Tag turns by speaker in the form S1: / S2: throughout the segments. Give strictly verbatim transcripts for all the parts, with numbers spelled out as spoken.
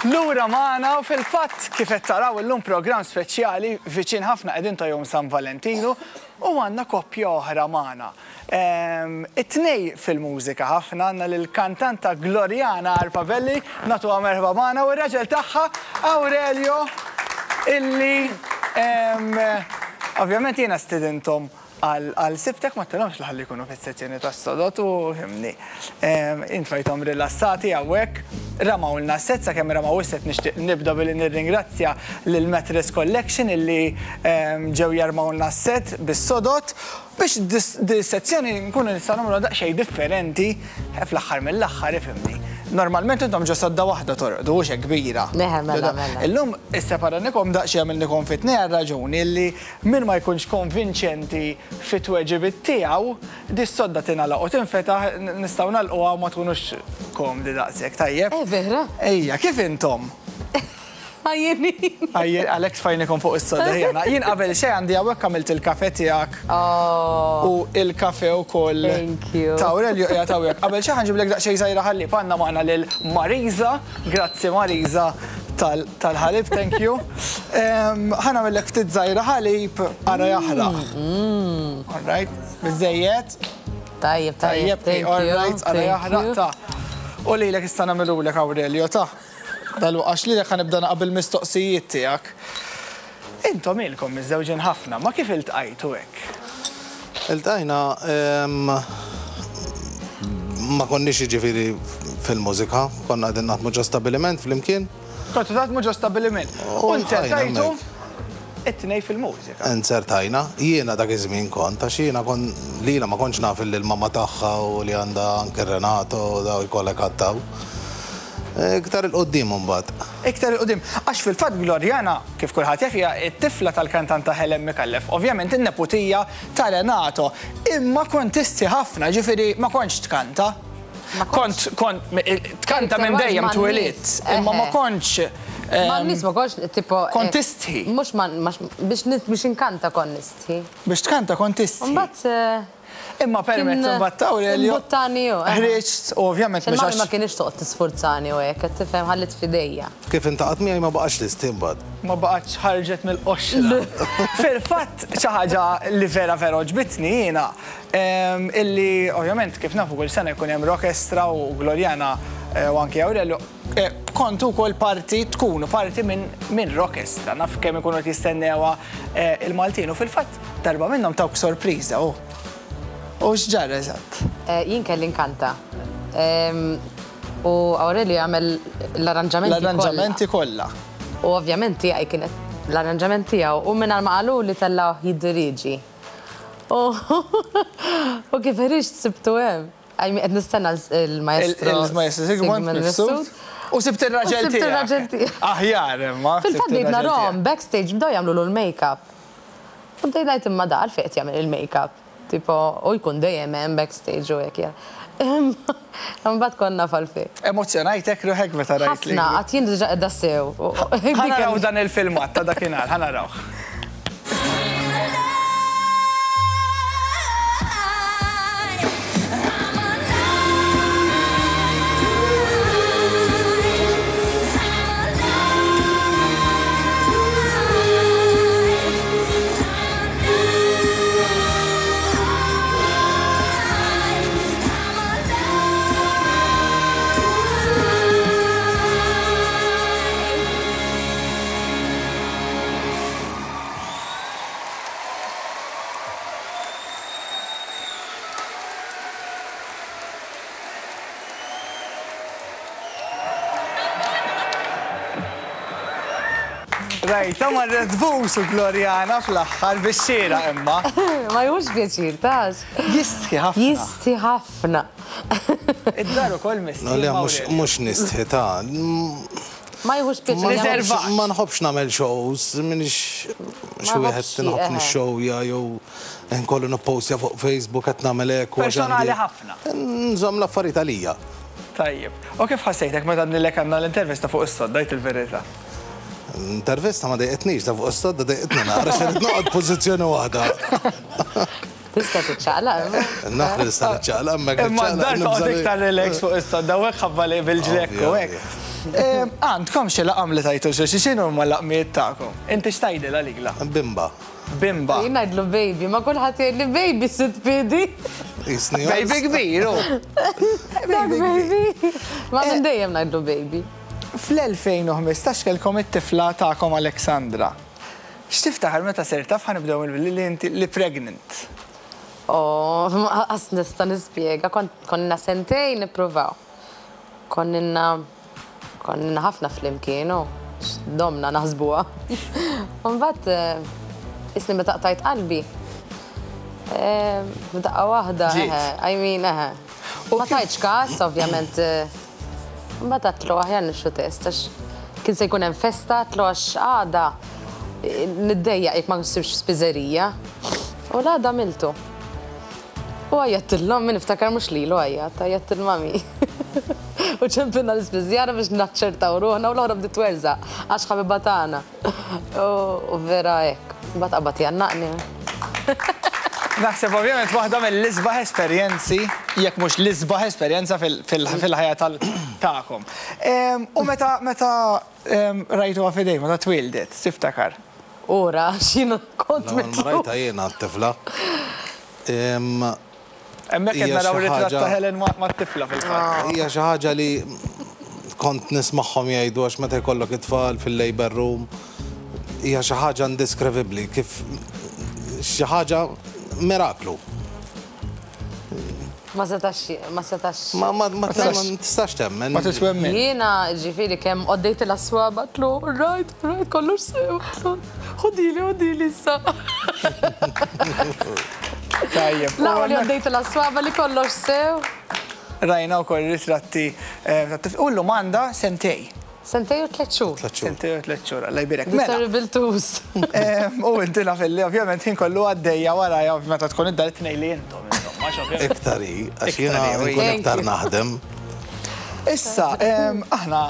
S1: Lura magħna u fil-fatt kif qed taraw illum programm speċjali viċin ħafna qegħdin ta' Jum San Valentinu u għandna koppja oħra magħna. It-tnej fil-mużika ħafna għandna lill-kantanta Gloriana Arpabelli, nagħtuha merħba magħna, u r-raġel tagħha Aurelio, illi ovvjament jiena stidinthom għal sibtek ma tellhomx li ħalli jkunu fis-sezzjoni tas-sodot u himni. Intfajthom rilassati hawnhekk, ramawlna s-set, sakemm ramaw is-set nixtieq nibda billi nirringrazzja lil Mattress Collection illi ġew jarmawlna s-set bis-sodot biex dis-sezzjoni nkunu nistgħu nagħmlu daqsxejn differenti fl-aħħar mill-aħħar, ifhimni. Normalment intom ġo sodda waħda torqdu, hux hekk kbira.
S2: Meħe, mela, mela.
S1: Illum isseparanikom daqsxejn għamilnikom fi tnejn għal raġuni li min ma jkunx konvinċenti fit-tweġibiet tiegħu, dis-sodda tingħalaq u tinfetaħ, nistgħu nagħlquha u ma tkunux komdi daqshekk, tajjeb?
S2: Eh, vera?
S1: Ejja, kif intom?
S2: Għajjeni.
S1: Għajjeni, għalhekk tfajnikom fuq is-sodda, ejja. Jien qabel xejn għandi hawnhekk għamilt il-kafe tiegħek.
S2: Oh.
S1: U il-kafe wkoll.
S2: Thank you.
S1: Ta' Aurelio qiegħed hawnhekk. Qabel xejn ħanġiblek daqsxejn żgħira ħalib, għandna magħna lil Marisa. Grazzi Marisa tal-ħalib, thank you. Ħa nagħmellek ftit żgħira ħalib ara jaħraq. All right, biżejjed.
S2: Tajjeb, tajjeb, thank you.
S1: All right, ara jaħraq ta'. U lilek issa nagħmilulek Aurelio ta'. Dal-waqax li lek ħanibda naqbel mistoqsijiet tiegħek. Intom ilkom miżżewġin ħafna, ma kif iltqajtu hekk?
S3: Iltqajna ma konniex jiġifieri fil-mużika, konna qegħdin naħdmu ġo stabiliment flimkien.
S1: Kontu taħdmu ġo stabiliment. U nzertajtu it-tnej fil-mużika.
S3: Nzertajna, jiena dak iż-żmien kont, għax jiena kon lila ma kontx naf li l-mamma tagħha u li għandha anke Renato u daw jkollha kantaw. Iktar il-qoddim mbagħad.
S1: Iktar il-qoddim. Għax fil-fatt Gloriana, kif kulħadd jaf, hija t-tifla tal-kantanta Helen Micallef, ovvjament in-neputija ta' Renato. Imma kont tistħi ħafna, ġifieri ma kontx tkanta. Kont, kont, tkanta minn dejjem twilidt, imma ma kontx.
S2: Ma nies ma kontx, tipo,
S1: Kont tistħi.
S2: Mhux ma, biex biex inkanta kont nistħi.
S1: Biex tkanta kont tistħi.
S2: Mbagħad
S1: Imma permezz imbagħad Aurelio.
S2: Imbuttani hu.
S1: Ħriġt, ovvjament mhux
S2: għax. Ma kienx toqgħod tisfurzani u hekk, qed tifhem ħallit f'idejja.
S3: Kif intaqgħet miegħi ma baqax tistħi mbagħad.
S1: Ma baqgħetx ħarġet mill-qoxra. Fil-fatt xi ħaġa li vera vera għoġbitni jiena, illi ovvjament kif nafu kull sena jkun hemm orkestra u Gloriana u anke Aurelio, kontu wkoll parti, tkunu parti minn orkestra, naf kemm ikunu qed jistennewha il-Maltin u fil-fatt darba minnhom tawk sorpriża u. U x'ġara eżatt?
S2: Jien kelli nkanta. U Aurelio jagħmel l-arranġamenti kollha.
S1: L-arranġamenti kollha.
S2: U ovvjament tiegħi kienet l-arranġament tiegħu u mingħajr ma qalu li tellgħu jiddiriġi. U kif ħriġt sibtu hemm. Qed nistenna l-maestro.
S1: Il-maestro Sigmund Mifsud. U sibt ir-raġel tiegħek.
S2: Sibt ir-raġel tiegħek.
S1: Aħjar imma.
S2: Fil-fatt bdejt narahom backstage bdew jagħmlu l-make-up. U bdejt ngħid imma da għalfejn qed jagħmel il-make-up. Tipo, u jkun dejjem hemm backstage u hekk ja. Imbagħad konna falfi.
S1: Emozzjonajtek ruħek meta rajt li.
S2: Ħafna, qatt jien diġà qiegħda sew.
S1: Ħa naraw dan il-filmat ta' dakinhar, ħa narawh. Rajta marret bus u Gloriana fl-aħħar bix-xieraq imma.
S2: Ma jħux pjaċir, tax.
S1: Jistħi ħafna.
S2: Jistħi ħafna.
S1: Id-dar ukoll mistħi.
S3: Le, mhux nistħi ta'
S2: Ma jħux pjaċir.
S3: Ma nħobbx nagħmel shows, minix xi wieħed nħobb nixxowja jew nkollu nippostja fuq Facebook qed nagħmel hekk.
S1: Personali ħafna.
S3: Nżomm l-affarijiet għalija.
S1: Tajjeb. U kif ħassejtek meta għandilek għandna l-intervista fuq is-sodda, jgħid il-verità?
S3: Intervista ma dejqetnix, ta' fuq is-sodda dejqetni naqra xi rid noqgħod pożizzjoni waħda.
S2: Tista' tiċċaqlaq.
S3: Naf li nista' niċċaqlaq, imma
S1: Imma d-dar toqgħod iktar relax fuq is-sodda u hekk ħabba li bil-ġlekk u hekk. Għandkom xi laqam li tajtu xi x'inhu huma l-laqmijiet tagħkom? Inti x'tgħidilha lilha?
S3: Bimba.
S1: Bimba.
S2: Jien ngħidlu baby, ma kulħadd jgħidli baby sitt piedi.
S1: Baby kbir, hu.
S2: Baby kbir. Ma minn dejjem ngħidlu baby.
S1: Fl-elfejn u ħmistax kellkom it-tifla tagħkom Alexandra. X'tiftaħar meta sirt taf, ħa nibdew mill-billi li inti li pregnant?
S2: Oh, qas nista' nispjega, konna sentejn nippruvaw. Konna konna ħafna flimkien, u domna naħsbuha. Mbagħad isni meta qtajt qalbi. F'daqqa waħda, I mean, eħe. Ma tajtx każ, ovvjament. Mbagħad għedtlu aħjar nixtru test, għax kien se jkun hemm festa, għedtlu għax għada niddejjaq jekk ma nsibx spiżerija. U l-għada għamiltu. U għajjattilhom, min niftakar mhux lilu għajjat, għajjatt il-mami. U ċempilna l-ispiżjara biex naċċertaw ruħna u l-oħra bdiet twerżaq għax ħabiba tagħna. U vera hekk, mbagħad qabad jgħannaqni.
S1: Naħseb ovvjament waħda mill-isbaħ esperjenzi, jekk mhux l-isbaħ esperjenza fil-ħajja tagħkom. U meta meta rajtuha f'idejk, meta twildet, tiftakar?
S2: Ora, x'jiena kont
S3: mitlu. Rajta jiena t-tifla.
S1: Hemmhekk qed naraw ritratt ta' Helen mat-tifla fil-fatt.
S3: Hija xi ħaġa li kont nismagħhom jgħidu għax meta jkollok it-tfal fil-labor room hija xi ħaġa indeskrivibbli, kif xi ħaġa miraklu.
S2: Ma setax, ma setax.
S3: Ma ma ma tistax temmen.
S1: Ma titwemmen.
S2: Jiena ġifieri kemm għoddejt l-aswaba tlu, rajt, rajt, kollox sew. Ħudili, ħudili issa.
S1: Tajjeb.
S2: La, li għoddejt l-aswaba li kollox sew.
S1: Rajna wkoll ritratti u llum għandha sentej.
S2: Sentej u tliet xhur.
S1: Sentej u tliet xhur, Alla jbierek.
S2: The terrible twos.
S1: U inti naf illi ovvjament ħin kollu għaddejja warajja meta tkun id-dar it-tnejn li intom, insomma,
S3: Iktar hi, għax jiena nkun iktar naħdem.
S1: Issa, aħna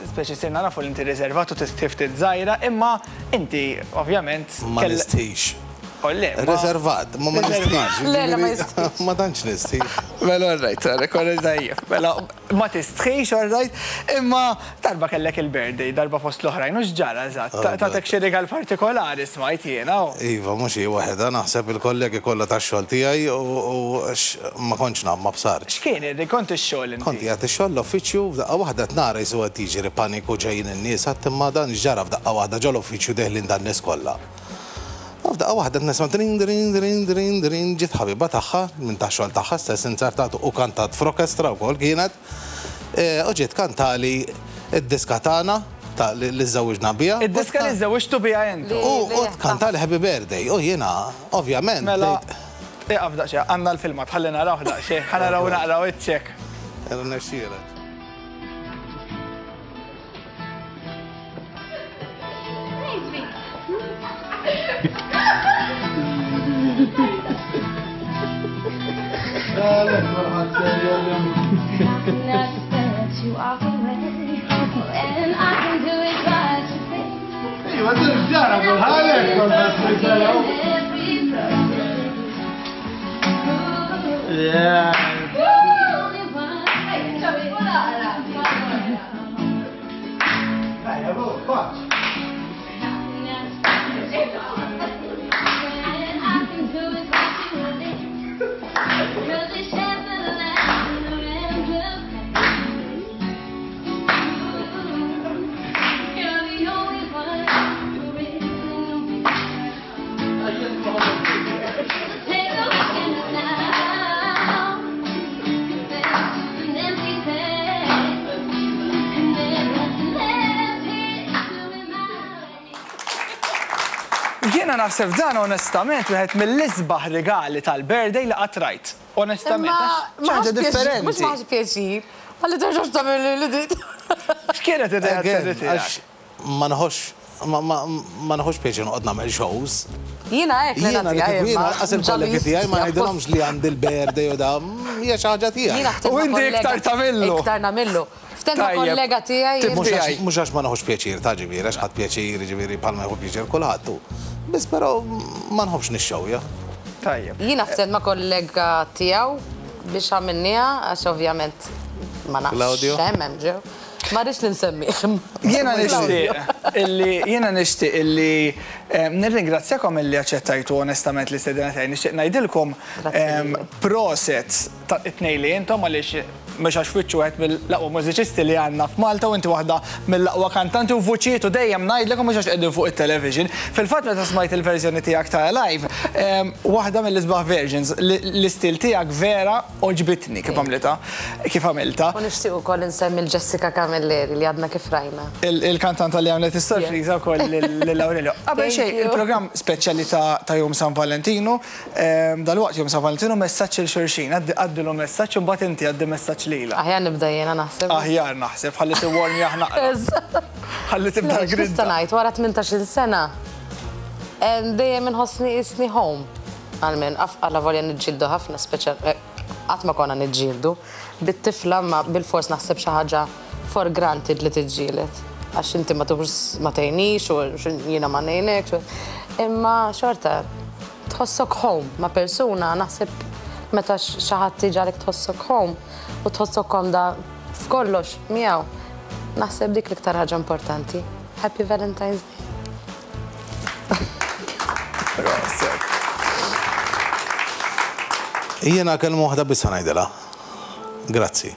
S1: speċi sirna nafu li inti riservat u tistħi ftit żgħira, imma inti ovvjament
S3: Ma nistħix.
S1: Riservat,
S3: ma ma nistħix.
S2: Le, le, ma jistħix.
S3: Ma tantx nistħix.
S1: Mela, all right, sorry, kollox tajjeb. Mela, ma tistħix, all right, imma darba kellek il-birthday, darba fost l-oħrajn, u x'ġara eżatt? Tatek xi rigal partikolari smajt jiena.
S3: Iva, mhux hi waħedha, naħseb il-kollegi kollha tax-xogħol tiegħi u ma kontx naf, ma bsarx.
S1: X'kien irri kont ix-xogħol inti?
S3: Kont qiegħed ix-xogħol l-uffiċċju, f'daqqa waħda qed nara jisu qed jiġri paniku ġejjin in-nies, għedt imma dan x'ġara f'daqqa waħda ġol-uffiċċju deħlin dan-nies kollha. F'daqqa waħda nisma' drin drin drin drin drin ġiet ħabiba tagħha minn tax-xogħol tagħha stess inzertat u kantat f'orkestra wkoll kienet. U ġiet kantali id-diska tagħna li żżewġna biha.
S1: Id-diska li żżewġtu biha intu.
S3: U kantali Happy Birthday u jiena ovvjament.
S1: Mela, iqaf daqsxejn, għandna l-filmat, ħalli naraw daqsxejn, ħa naraw naqraw iċ-ċekk.
S3: Irnexxielek.
S1: Yeah. Jiena naħseb dan onestament wieħed mill-isbaħ rigali tal-birthday li qatt rajt. Onestament, ħaġa differenti.
S2: Mhux ma ħax pjaċir. Ħalli terġax tagħmel li dit.
S1: X'kienet ir-reazzjoni tiegħek?
S3: Ma nħoss ma nħoss pjaċir noqgħod nagħmel shows.
S2: Jiena hekk li
S3: nagħtiha. Jiena lanqas il-kollegi tiegħi ma ngħidilhomx li għandi l-birthday u da hija xi ħaġa tiegħi.
S1: U inti iktar tagħmillu.
S2: Iktar nagħmillu. Ftenna kollega tiegħi.
S3: Mhux għax ma nħoss pjaċir ta' ġifieri, għax ħadd pjaċir, ġifieri bħalma jieħu pjaċir kulħadd. Biss però ma nħobbx nixxewja.
S1: Tajjeb.
S2: Jiena ften ma' kollega tiegħu biex għamilniha għax ovvjament ma nafx hemm hemm ġew. Ma rridx li nsemmih.
S1: Jiena nixtieq illi jiena nixtieq illi nirringrazzjakom illi aċċettajtu onestament l-istedina tiegħi. Nixtieq ngħidilkom proset ta' it-tnejn li intom għaliex mhux għax wiċċu wieħed mill-aqwa mużiċisti li għandna f'Malta u inti waħda mill-aqwa kantanti u vuċijiet u dejjem ngħidlek u mhux għax qegħdin fuq it-television. Fil-fatt meta smajt il-verżjoni tiegħek ta' live, waħda mill-isbaħ versions, l-istil tiegħek vera għoġbitni kif għamlitha, kif għamilta.
S2: U nixtieq ukoll insemmi l-Jessica Camilleri li għadna kif rajna.
S1: Il-kantanta li għamlet is-sorpriża wkoll lil Aurelio. Qabel xejn, il-programm speċjali ta' Jum San Valentino, dalwaqt Jum San Valentino messaġġ lil xulxin, għaddilu messaġġ u mbagħad inti għaddi messaġġ lilha.
S2: Aħjar nibda jiena naħseb.
S1: Aħjar naħseb, ħalli tiwarmi aħna. Ħalli tibda l-grinta.
S2: Nista' ngħid wara tmintax-il sena dejjem inħossni isni home. Għalmen, għalla volja niġġieldu ħafna, speċjal qatt ma konna niġġieldu. Bit-tifla ma bil-fors naħseb xi ħaġa for granted li tiġġieled. Għax inti ma tux ma tgħinix u jiena ma ngħinek. Imma xorta tħossok home ma' persuna naħseb meta xi ħadd jiġalek tħossok home u tħossok komda f'kollox miegħu. Naħseb dik l-iktar ħaġa importanti. Happy Valentine's Day.
S3: Jiena kelma waħda biss ngħidilha. Grazzi.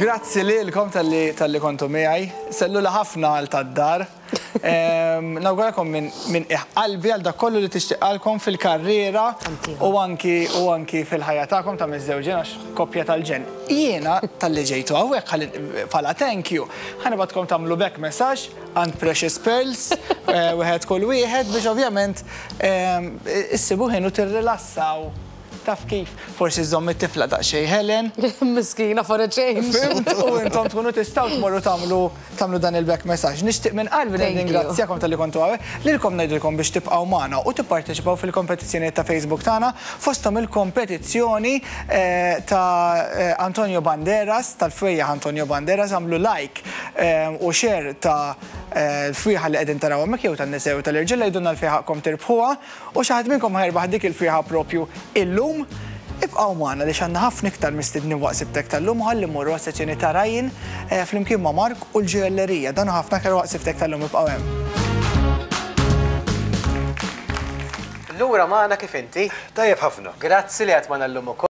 S1: Grazzi lilkom talli kontu miegħi. Sellula ħafna għal tad-dar. Nawgurakom minn qalbi għal dak kollu li tixtieqalkom fil-karriera u anki u anki fil-ħajja tagħkom ta' miżżewġin għax koppja tal-ġenn. Jiena talli ġejtu hawnhekk bħala thank you. Ħa nibgħatkom tagħmlu back messaġġ għand Precious Pearls wieħed kull wieħed biex ovvjament issibu ħin u tirrilassaw. Taf kif, forsi żomm it-tifla daqsxejn Helen.
S2: Miskina for a change.
S1: Fimt, u intom tkunu tistgħu tmorru tagħmlu tagħmlu dan il-back message. Nixtieq minn qalbi nirringrazzjakom talli kontu hawnhekk, lilkom ngħidilkom biex tibqgħu magħna u tipparteċipaw fil-kompetizzjonijiet ta' Facebook tagħna, fosthom il-kompetizzjoni ta' Antonio Banderas, tal-fwejjaħ Antonio Banderas, għamlu like u share ta' l-fwieħa li qegħdin taraw hemmhekk jew tan-nisa jew tal-irġiel jgħidulna l-fwieħaqkom tirbħuha u xi ħadd minnkom ħa jirbaħ dik il-fwieħa propju illum. Ibqgħu magħna li għandna ħafna iktar mistednin waqt Sibtek tal-lum, ħalli mmorru għas-sezzjoni ta' Ryan flimkien ma' Mark u l-ġujellerija. Dan ħafna aktar waqt Sibtek tal-lum, ibqgħu hemm.
S4: Lura magħna kif inti?
S5: Tajjeb ħafna.
S4: Grazzi li qed magħna llum ukoll.